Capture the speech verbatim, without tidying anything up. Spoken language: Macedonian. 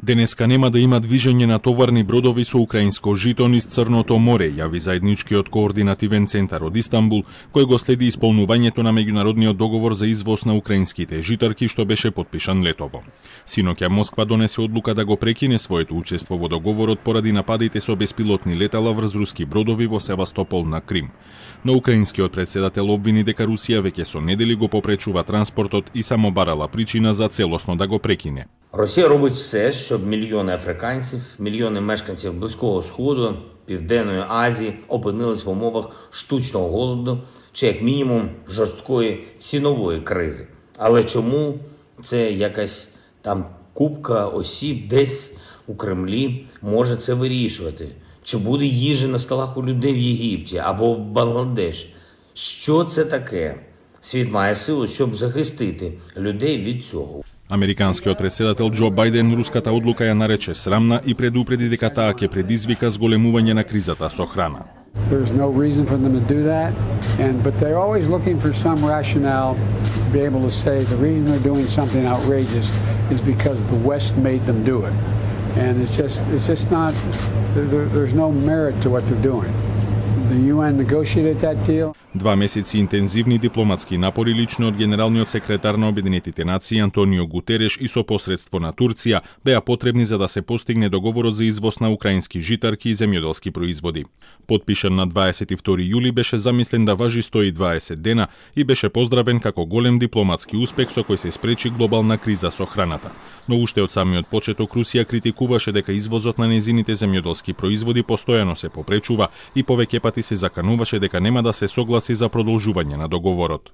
Денеска нема да има движење на товарни бродови со украинско жито низ Црното море, јави заедничкиот координативен центар од Истанбул, кој го следи исполнувањето на меѓународниот договор за извоз на украинските житарки што беше потпишан летово. Синоќа Москва донесе одлука да го прекине своето учество во договорот поради нападите со беспилотни летала врз руски бродови во Севастопол на Крим. Но украинскиот председател обвини дека Русија веќе со недели го попречува транспортот и само барала причина за целосно да го прекине. Росія робить все, щоб мільйони африканців, мільйони мешканців Близького Сходу, Південної Азії опинились в умовах штучного голоду чи, як мінімум, жорсткої цінової кризи. Але чому це якась там купка осіб десь у Кремлі може це вирішувати? Чи буде їжа на столах у людей в Єгипті або в Бангладеш? Що це таке? Світ має силу, щоб захистити людей від цього. Американскиот председател Џо Бајден руската одлука ја нарече срамна и предупреди дека таа ќе предизвика зголемување на кризата со храна. There's no reason for them to do that, and but they're always looking for some rationale to be able to say the reason they're doing something outrageous is because the West made them do it. And it's just it's just not there, there's no merit to what they're doing. The U N negotiated that deal. Два месеци интензивни дипломатски напори лично од генералниот секретар на Обединетите нации Антонио Гутереш и со посредство на Турција беа потребни за да се постигне договорот за извоз на украински житарки и земјоделски производи. Подпишан на дваесет и втори јули, беше замислен да важи сто и дваесет дена и беше поздравен како голем дипломатски успех со кој се спречи глобална криза со храната. Но уште од самиот почеток Русија критикуваше дека извозот на незините земјоделски производи постојано се попречува и повеќе пати се закануваше дека нема да се согласи за продолжување на договорот.